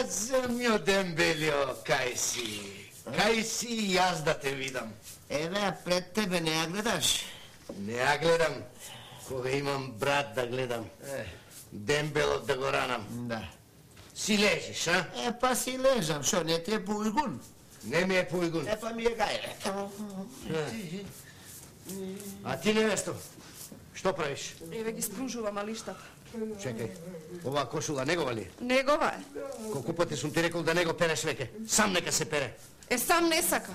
Земјо Дембелио, кај си? Кај си јас да те видам? Еве, пред тебе не ја гледаш? Не ја гледам, кога имам брат да гледам. Дембелот да го ранам. Да. Си лежиш, а? Па си лежам, шо не ти е појгун? Не ми е појгун. Па ми е гајле. А ти, невесто, што правиш? Еве ги спружувам алиштата. Чекај, оваа кошула негова ли? Негова е. Колку пати сум ти рекол да не го переш веќе? Сам нека се пере. Сам не сака.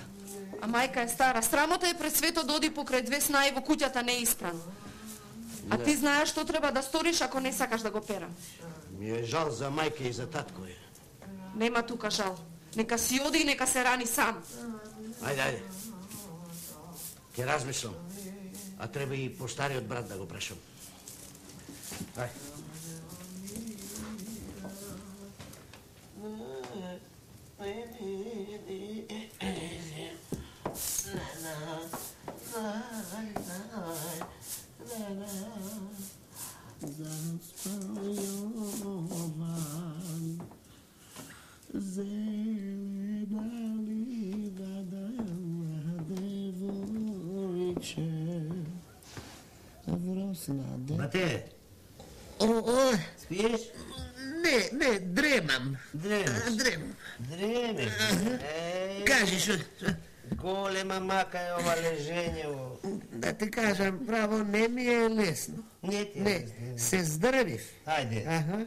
А мајка е стара. Срамота е пред свето да оди покрај две снаи во куќата неисправно. А ти знаеш што треба да сториш ако не сакаш да го перам. Ми е жал за мајка и за татко е. Нема тука жал. Нека си оди и нека се рани сам. Ајде. Ке размислам. А треба и постариот брат да го прашам. Ај. Бате, спиеш? Не, дремам. Дремеш? Кажи шо? Голема мака е ова лежење. Да ти кажам, право, не ми е лесно. Не ти е лесно. Не, се здрвив. Ајде.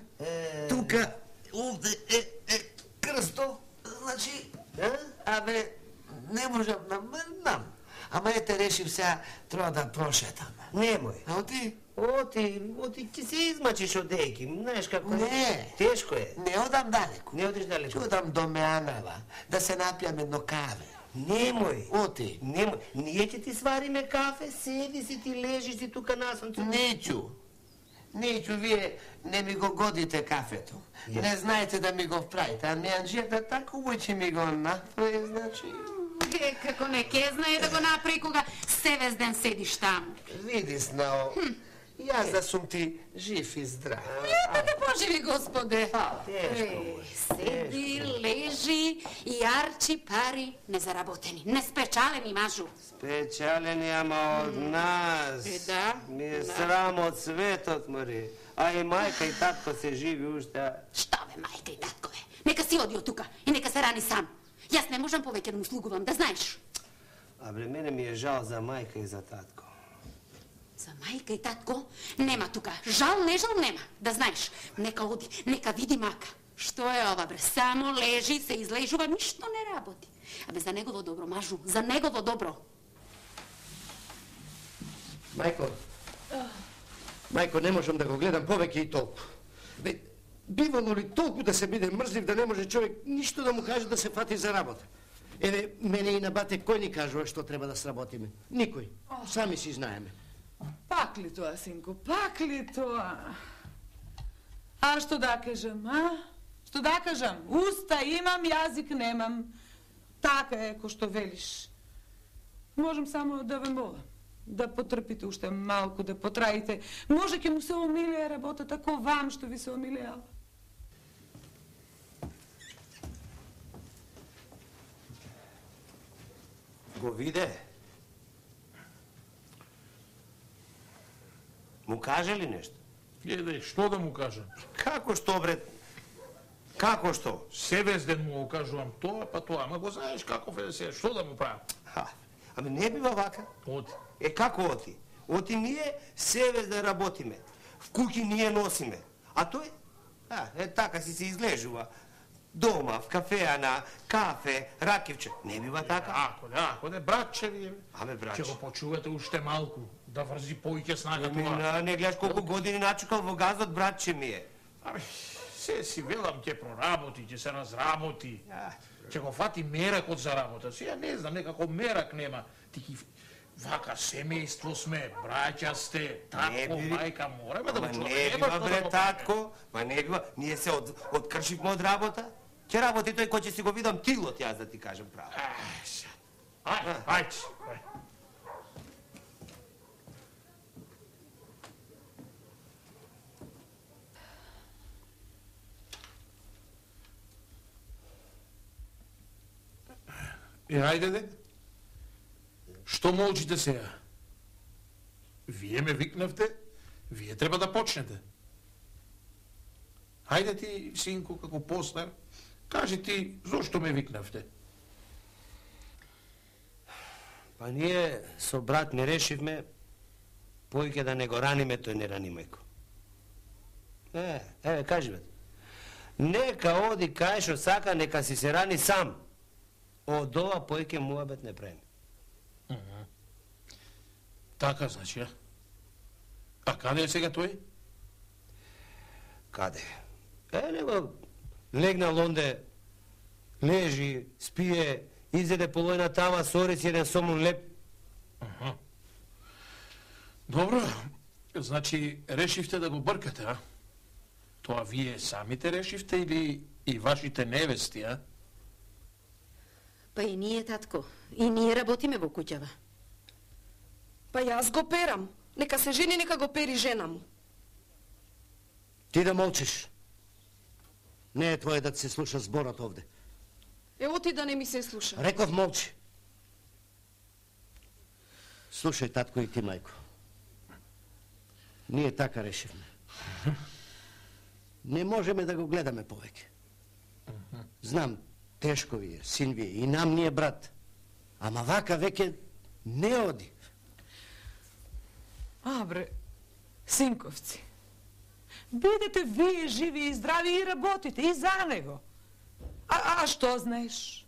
Тука, овде е крсто, значи, абе, не можам да мрдам. Ама ете решив сега, треба да прошетам. Немој. А ти? Оти ти се измачиш од дејки, знаеш како е. Не. Тешко е. Не одам далеко. Не одиш далеко. Ќе одам до Меанава, да се напијам едно каве. Немој. Оти. Немој. Ние ќе ти свариме кафе, седи си ти лежиш си тука на сонце. Неќу, вие не ми го годите кафето. Не знаете да ми го правите, а Меанџијата тако ќе ми го направи, значи... Како не ке знае да го направи кога се ден седиш таму. Види, Снао, јас да сум ти жив и здрав. Да те поживи, Господе. Тешко. Седи, лежи и арчи пари незаработени, неспечалени, мажу. Спечалени, ама од нас. Да. Ми е срам од светот, Мари. А и мајка и татко се живи уште. Што бе, мајка и татко бе? Нека си оди од тука и нека се рани сам. Јас не можам повеќе да му слугувам, да знаеш. А бре, мене ми е жал за мајка и за татко. За мајка и татко нема тука. Жал, не жал нема, да знаеш. Нека оди, нека види мака. Што е ова, бре? Само лежи, се излежува, ништо не работи. Абе, за негово добро, мажу, за негово добро. Мајко, не можам да го гледам повеќе и толку. Бивало ли толку да се биде мрзлив да не може човек ништо да му каже да се фати за работа? Еве, мене и на бате кој ни кажува што треба да сработиме? Никој. Сами си знаеме. Пак ли тоа, синко, пак ли тоа? А што да кажам, а? Што да кажам? Уста имам, јазик немам. Така е, ко што велиш. Можам само да ве молам. Да потрпите уште малку, да потраите. Може ќе му се омилее работата, ко вам што ви се омилеала. Го виде? Му каже ли нешто? Еде, што да му кажам? Како што, бре? Како што? Севезден му го кажувам тоа, па тоа, ама го знаеш каков е се, што да му правам? Ами не бива вака. Оти. Како оти? Оти ние севезден работиме. В куќи ние носиме. А тој? Така си се излежува. Дома, в кафеа на кафе, ракивче. Не бива така. Ако не, братче ви. Аме, братче. Ќе го почувате уште малку, да врзи поиќе снага тоа. Не гледаш колку години начукал во газот, братче ми е. Ами, се си велам, ќе проработи, ќе се разработи. Ќе го фати меракот за работа. Сега не знам, некако мерак нема. Ти ки вака семејство сме, браќа сте, татко, мајка, мораме да го чуваме. Не бива, бре, татко, ма не бива. Ние се откршивме од работа. Ќе работи тој кој ќе си го видам тилот, јас да ти кажем право. Ајде. ајде де. Што молчите сега? Вие ме викнавте, вие треба да почнете. Ајде ти, синко, како постар, кажи ти зошто ме викнавте. Па ние со брат не решивме поиќе да не го раниме тој неранимајко. Еве, кажи бе. Нека оди кај што сака, нека си се рани сам. Од ова поиќе муабет не правиме. Така значи, а? А каде е сега тој? Каде? Него легнал онде, лежи, спие, изеде полојна тама, сори си еден сомун леп. Добро, значи решивте да го бркате, а? Тоа вие самите решивте или и вашите невести, а? Па и ние, татко, и ние работиме во куќава. Па јас го перам. Нека се жени, нека го пери жена му. Ти да молчиш. Не е твое да се слуша зборот овде. Ево ти да не ми се слуша. Реков молчи. Слушај, татко, и ти, мајко. Ние така решивме. Не можеме да го гледаме повеќе. Знам, тешко ви е, син ви е, и нам ни е брат. Ама вака веќе не оди. Бре, синковци, бидете вие живи и здрави и работите и за него. А што знаеш?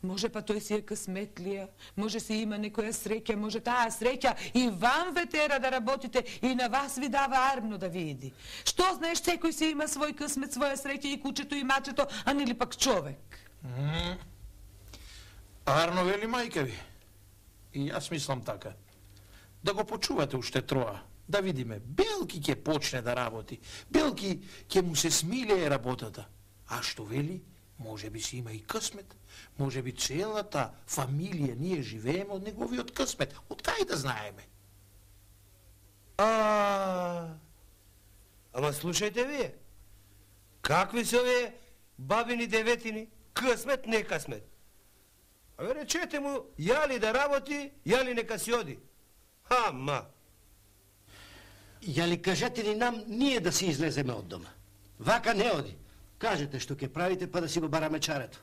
Може па тој си е късметлија, може си има некоја среќа, може таа среќа и вам ве тера да работите и на вас ви дава армно да види. Што знаеш, секој си има свој късмет, своја среќа, и кучето и мачето, а нели пак човек. Арно вели мајка ви. И јас мислам така. Да го почувате уште троа, да видиме. Белки ќе почне да работи, Белки ќе му се смилее работата. А што вели? Може би си има и късмет, може би целата фамилија ние живееме од неговиот късмет. Од кај да знаеме? Ама слушајте вие, какви се овие бабини деветини? Късмет, не късмет. Абе речете му, јали да работи, јали нека си оди. Ама. Јали кажете ни нам ние да си излеземе од дома. Вака не оди. Кажете што ќе правите, па да си го бараме чарето.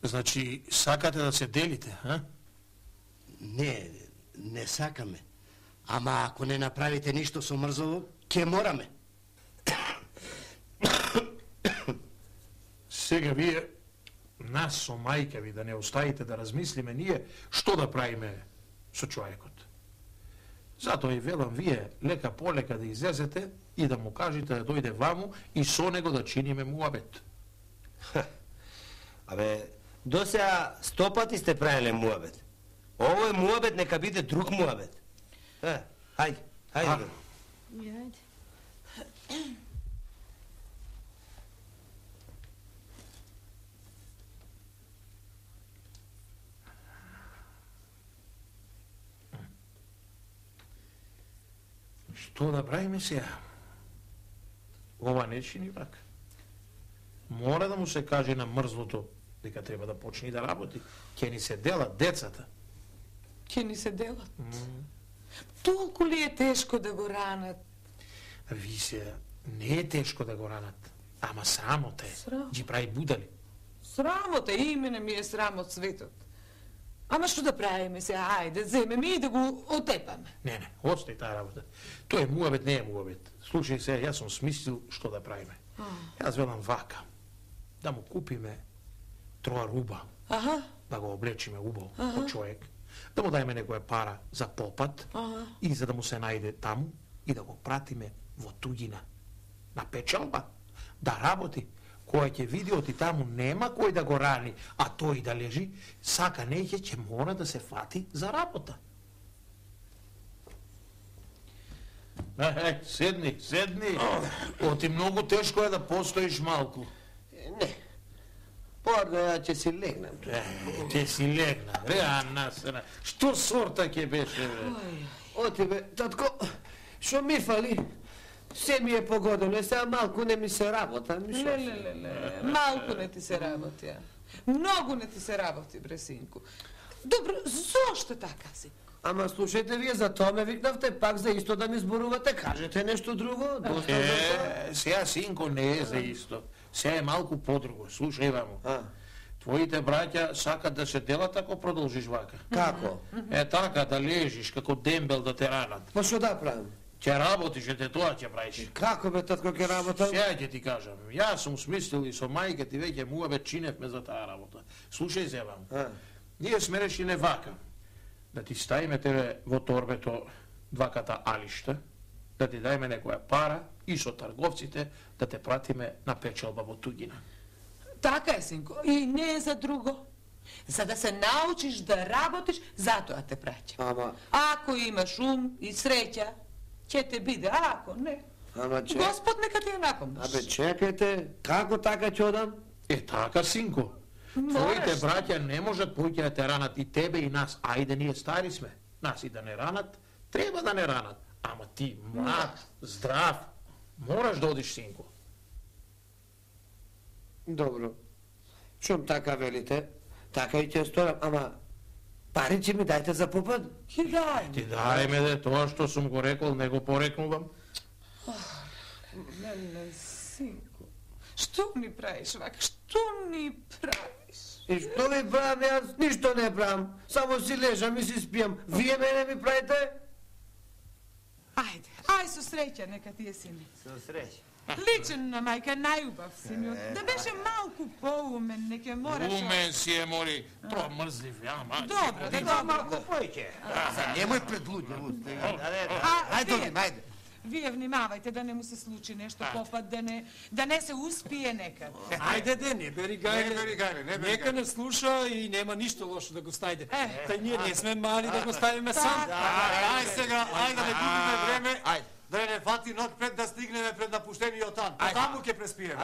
Значи, сакате да се делите, а? Не сакаме. Ама ако не направите ништо со мрзово, ќе мораме. Сега вие нас со мајка ви да не оставите да размислиме ние што да правиме со човекот. Затоа и велам вие лека полека да излезете и да му кажете да дојде ваму и со него да чиниме муабет. Абе, досеа 100 пати сте правиле муабет. Овој муабет нека биде друг муабет. Хајде. Јајде. Што да правиме сега? Ова не чини вака. Мора да му се каже на мрзлото дека треба да почне да работи. Ќе ни се делат децата. Ќе ни се делат. Толку ли е тешко да го ранат? Ви се, не е тешко да го ранат, ама срамота е. Срам. Ги прави будали. Срамота, имене ми е срам од светот. Ама што да правиме се, ајде, земеме и да го отепаме. Не, остави таа работа. Тој е муабет, не е муабет. Слушај се, јас сум смислил што да правиме. Јас велам вака, да му купиме 3 руба, да го облечиме убаво од човек, да му дајме некоја пара за попат и за да му се најде таму и да го пратиме во туѓина, на печалба, да работи. Кој ќе види оти таму нема кој да го рани, а тој да лежи, сака неќе ќе мора да се фати за работа. Седни. Оти многу тешко е да постоиш малку. Не. Порно ја ќе си легнам. Ќе си легнам, насера. Што сорта ќе беше, бе? Оти, бе, татко, шо ми фали? Се ми е погодено, сега малку не ми се работа. Не, малку не ти се работи. Многу не ти се работи, бре, синку. Добро, зошто така, синку? Ама слушајте, вие за тоа ме викнавте, пак за исто да ми зборувате, кажете нешто друго, доста за тоа. Сега, синко, не е за исто. Сега е малку подруго. Слушај, вамо. Твоите браќа сакат да се делат ако продолжиш вака. Како? Е така, да лежиш како дембел да те ранат. Па што да правим? Ќе работиш, ете тоа ќе правиш. Како бе, татко, ќе работам? Сега ќе ти кажам. Јас сум смислил и со мајка ти веќе муабе чиневме за таа работа. Слушај се, вамо. Ние сме решиле вака. Да ти ставиме тебе во торбето дваката алишта, да ти дајме некоја пара и со трговците да те пратиме на печалба во туѓина. Така е, синко, и не е за друго. За да се научиш да работиш, затоа те праќа. Ама... Ако имаш ум и среќа, ќе те биде, а ако не... Ама Господ нека ти ја напомниш. Абе, чекајте, како така ќе одам? Е така, синко. Твоите браќа не можат поќе да те ранат и тебе и нас. Ајде, ние стари сме. Нас и да не ранат, треба да не ранат. Ама ти, млад, здрав, мораш да одиш, синко. Добро. Шум така велите, така и ќе сторам, ама пари ми дајте за попад? Ќе дај. Ти дајме де, тоа што сум го рекол, не го порекнувам. Мене, синко, што ми правиш вака? Што ни правиш? И што ви правам, јас ништо не правам. Само си лежам и си спијам. Вие мене ми правите? Ајде, ај со среќа, нека ти е сине. Со среќа. Личен на мајка, најубав синот. Да беше малку поумен, не ќе мораше... Умен си е, мори, тоа мрзлив, ја, Добро, да малку појќе. Немој пред луѓе. Ајде, ајде. Вие внимавајте да не му се случи нешто попад, да не се успие некад. Ајде де, не бери гајле. Нека не слуша и нема ништо лошо да го стајде. Тај ние не сме мали да го ставиме сам. Ај сега, ајде да не губиме време. Да не фати ног пред да стигнеме пред напуштениот тан. Таму ќе преспиеме.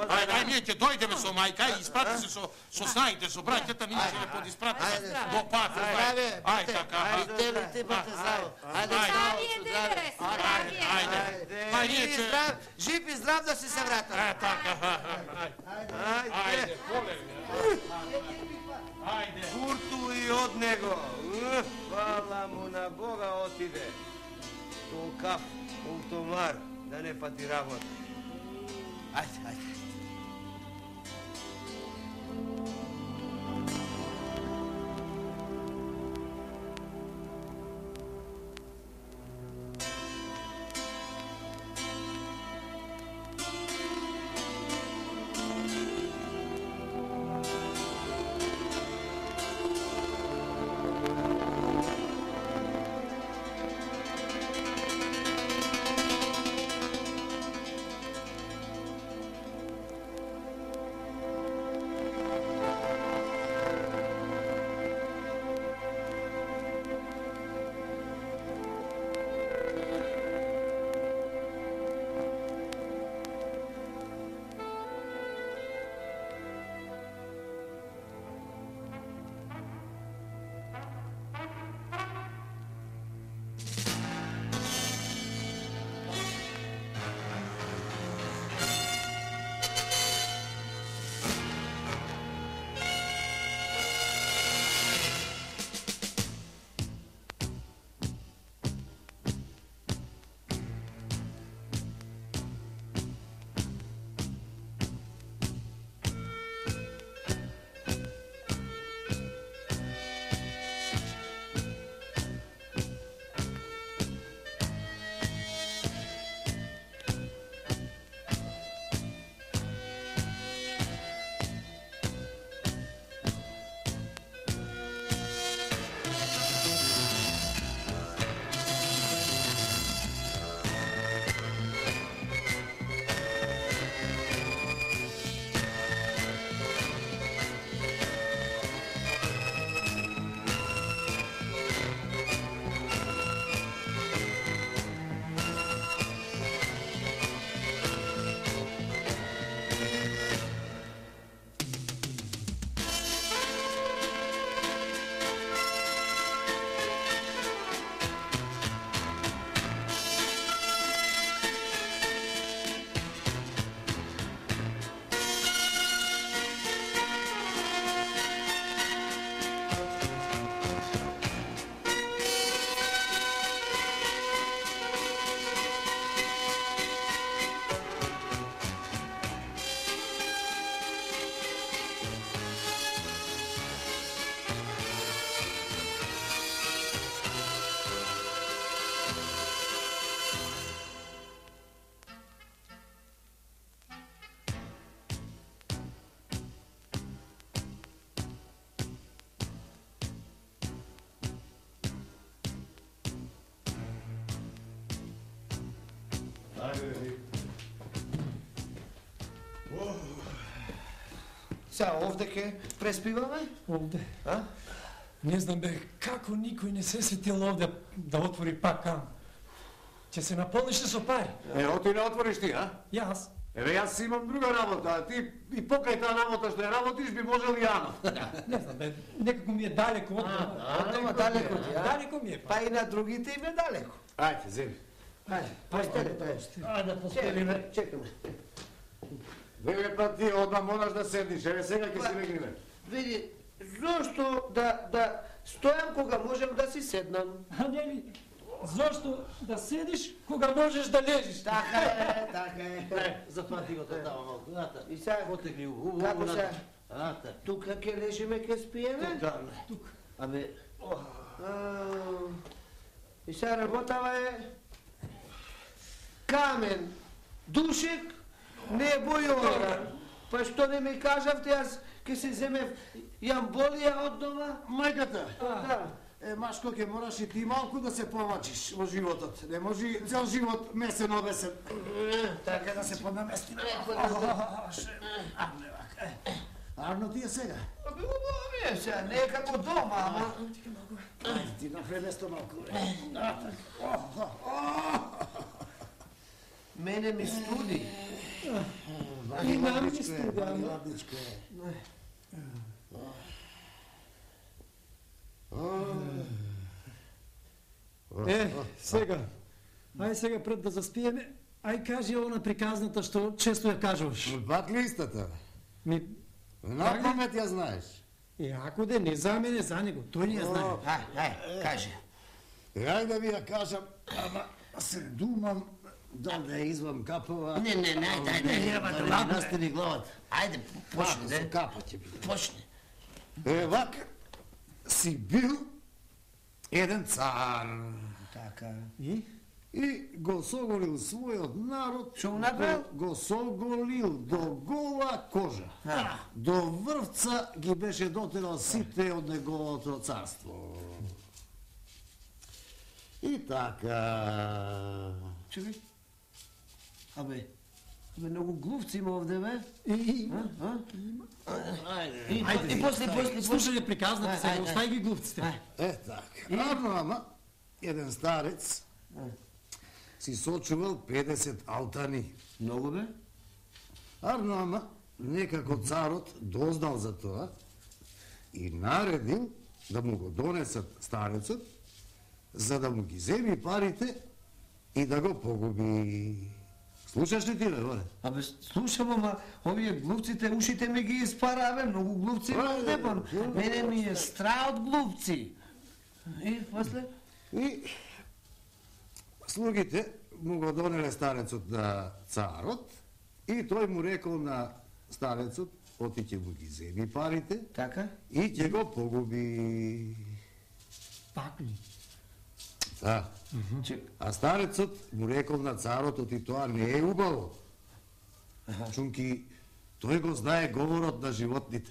Ајде, ние ќе дојдеме со мајка и испрати се со снаите, со браќата, ние ќе не подиспрати до пат. Ајде, така. Ајде, жив и здрав да се вратам. Така, ајде, полеви. Ајде. Курту и од него. Фала му на Бога отиде. Толкав ултомар да не фати работа. Ајде. Сега овде ке преспиваме? Овде. А? Не знам бе, како никој не се сетил овде да отвори пак кам. Ќе се наполниш со пари. Оти не отвориш ти, а? Јас. Еве јас имам друга работа, а ти и покрај таа работа што ја работиш би можел и ано. Не знам бе, некако ми е далеко од дома. Од дома далеко ти, а? Далеко ми е па. Па и на другите им е далеко. Ајде, земи. Ајде, постеле. Ајде, постелиме. Чекаме. Еве па ти одма мораш да седиш, еве сега ќе си легнеме. Види, зошто да стојам кога можем да си седнам? А не ми, зошто да седиш кога можеш да лежиш? Така е. Зафати го тоа малку. Ната. И сега, Потегли у. како се? Ната. Тука ќе лежиме, ќе спиеме? Тук. Абе, И сега работава е Камен, Душек, не е Бојора. Па што не ми кажавте, јас ќе се земев јамболија од дома? Мајката. Да. Машко, ќе мораш и ти малку да се помачиш во животот. Не може цел живот месен обесен. Така да се поднаместиме. Арно ти е сега. Убаво ми е сега, не е како дома, ама... Ти направи место малку. Мене ми студи. И нам ми студи, ама. Ладничко е. Сега. Ај сега пред да заспиеме, ај кажи она приказната што често ја кажуваш. Пак ли истата? Ми, На памет ја знаеш. и ако де не за мене, за него, тој не ја знае. Ај, кажи. Ајде да ви ја кажам, ама се думам да ја извам капова. Не, ајде. настани главата. Ајде, почни, Со не? капа ќе биде. Почни. Вака си бил еден цар. Така. И го соголил својот народ. Што го направил? Го соголил до гола кожа. До врвца ги беше дотерал сите од неговото царство. И така... Чекај. Абе, многу глувци има овде, бе. И после, слушање приказната сега, остави ги глупците. така. Арно, ама, еден старец си сочувал 50 алтани. Многу, бе. Арно, ама, некако царот дознал за тоа и наредил да му го донесат старецот, за да му ги земи парите и да го погуби. Слушаш ли ти, бе, горе? Абе, слушам, ама овие глувците, ушите ми ги испара, бе, многу глувци има овде, па. Мене ми е страх од глувци. И после? И слугите му го донеле старецот на царот и тој му рекол на старецот, оти ќе му ги земи парите Така? и ќе го погуби. Пак ли? Да. А старецот му рекол на царот, оти тоа не е убаво. Чунки тој го знае говорот на животните.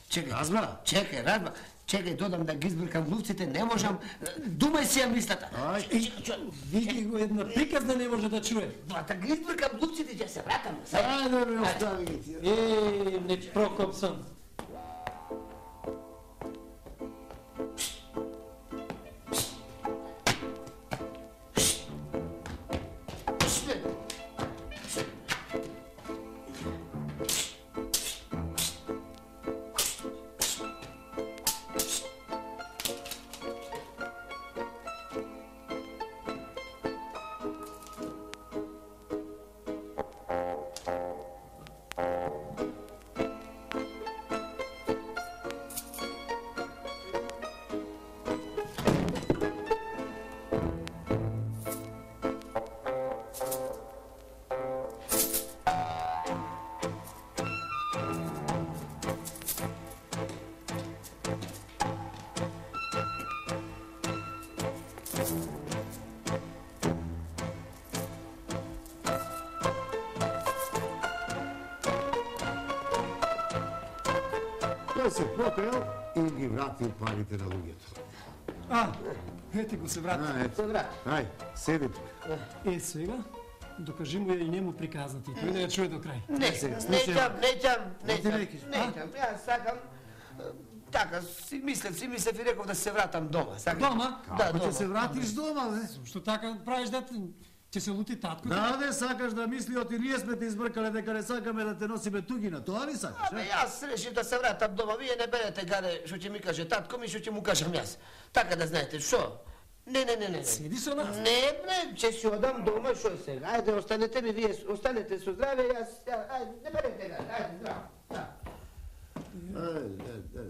Чекај. Разбра? Чекај, додам да ги избркам глувците, не можам. Думај си ја мислата. Види го една приказна не може да чуе. Да ги избркам глувците, ќе се вратам. Ајде, ме остави ги ти. Не Прокопсон. Тој се покрел и ги вратил парите на луѓето. Ете го се врати. Ето. Ај, седи тука. Сега, докажи му ја и нему приказната и тој да ја чуе до крај. Неќам, јас сакам така, си мислев и реков да се вратам дома. Дома? Да, Ќе се вратиш дома, бе? Што така правиш дете? Ќе се лути татко? Да, не сакаш да мисли, оти ние сме те избркале дека не сакаме да те носиме тугина, тоа ли сакаш? Јас решив да се вратам дома, вие не берете гаде што ќе ми каже татко ми, што ќе му кажам јас. Така да знаете, шо? Не. Седи со нас. Не, ќе си одам дома, шо е сега? Ајде, останете ми, вие останете со здраве, јас, ајде, не берете гаде, ајде, здраво.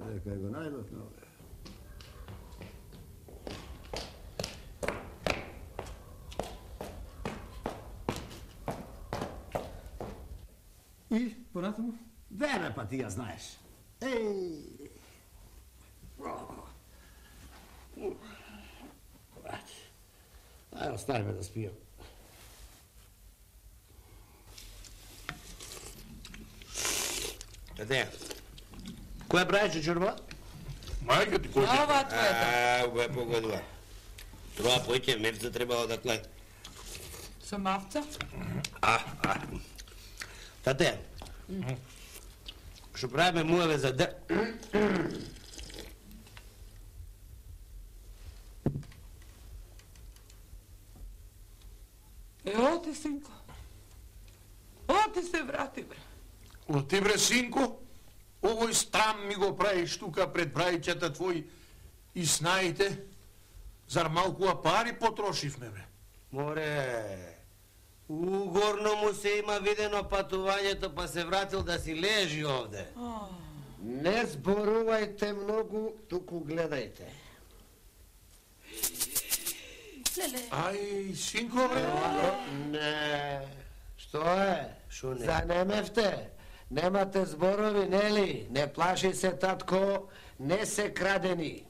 Нека го најдов, но... И, понатаму? Вере, па ти ја знаеш. Ајде, оставиме да спијам. Таде, која правиш чорба? Мајка ти кој Ова твојата. Го е погодува. Троа појќе мевца требало да кле. Со мавца? Тате, што правиме муеве за Оти, синко. Оти се врати, бре. Оти бре, синко, овој страм ми го правиш тука пред брајчата твои и снаите, зар малку пари потрошивме, бе? Море, угорно му се има видено патувањето, па се вратил да си лежи овде. Не зборувајте многу, туку гледајте. Ај, синко, бре? Не, што е? Шо не? Занемевте? Немате зборови, нели? Не плаши се, татко, не се крадени.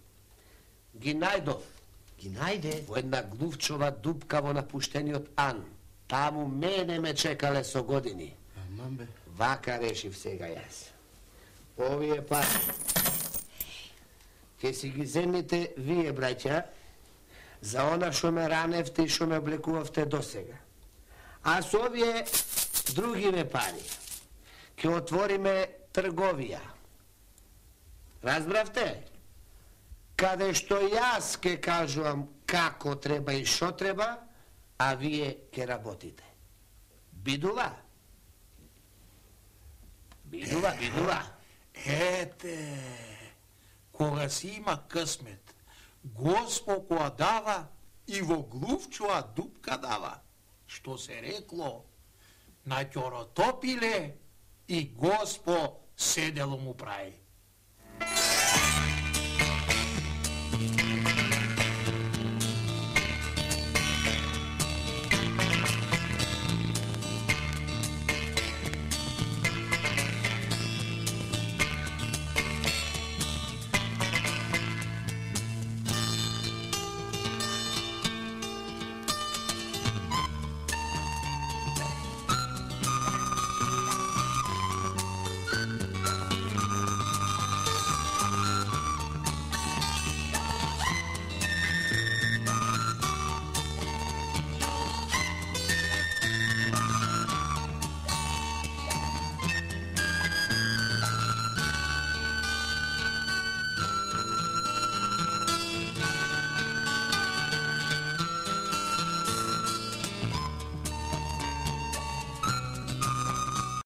Ги најдов. Ги најде? Во една глувчова дупка во напуштениот Ан. Таму мене ме чекале со години. Аман бе. Вака решив сега јас. Овие пари ќе си ги земите вие, браќа, за она што ме раневте и што ме облекувавте досега. А со овие другиве пари ќе отвориме трговија. Разбравте? Каде што јас ќе кажувам како треба и што треба, а вие ќе работите. Бидува? Бидува. Ете, кога си има късмет, Госпо која дава и во глувчува дупка дава. Што се рекло, на ќоротопиле и Госпо седело му прави.